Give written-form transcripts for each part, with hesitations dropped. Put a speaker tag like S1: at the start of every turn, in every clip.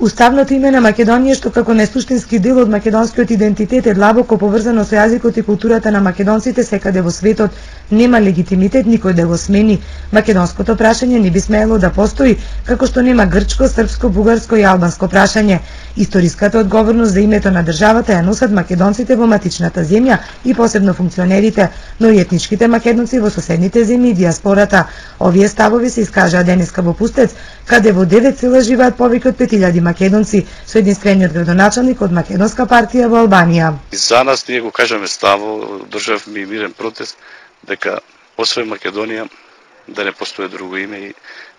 S1: Уставното име на Македонија, што како несуштински дел од македонскиот идентитет е длабоко поврзано со јазикот и културата на македонците секаде во светот, нема легитимитет никој да го смени. Македонското прашање не би смеело да постои, како што нема грчко, српско, бугарско и албанско прашање. Историската одговорност за името на државата ја носат македонците во матичната земја и посебно функционерите, но и етничките македонци во соседните земји и диаспората. Овие ставови се искажаа денеска во Пустец, каде во 9 села живеат повеќе од 5000 македонци, со единствениот градоначалник од Македонска партија во Албанија.
S2: За нас ние го кажаме ставо, државме мирен протест дека освен Македонија да не постои друго име и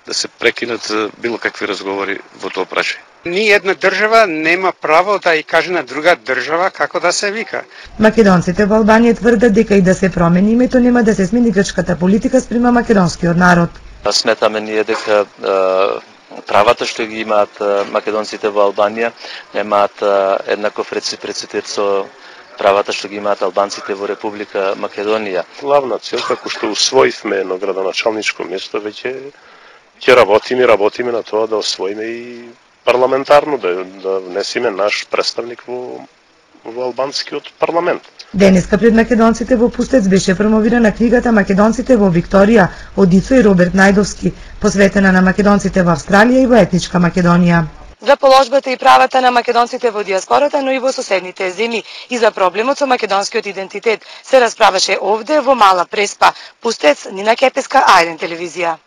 S2: да се прекинат било какви разговори во тоа прашање.
S3: Ни една држава нема право да и каже на друга држава како да се вика.
S1: Македонците во Албанија тврдат дека и да се промени името нема да се смени грчката политика спрема македонскиот народ.
S4: Сметаме ние дека правата што ги имаат македонците во Албанија немаат еднаков реципроцитет со правата што ги имаат албанците во Република Македонија.
S5: Главна цел, како што усвоивме едно градоначалничко место, веќе ќе работиме на тоа да освоиме и парламентарно, да внесеме наш представник во албанскиот парламент.
S1: Денеска пред македонците во Пустец беше промовирана книгата Македонците во Викторија од Ицо и Роберт Најдовски, посветена на македонците во Австралија и во етничка Македонија. За положбата и правата на македонците во диаспората, но и во соседните земји и за проблемот со македонскиот идентитет се расправаше овде во Мала Преспа, Пустец, Нина Кепеска, А1 телевизија.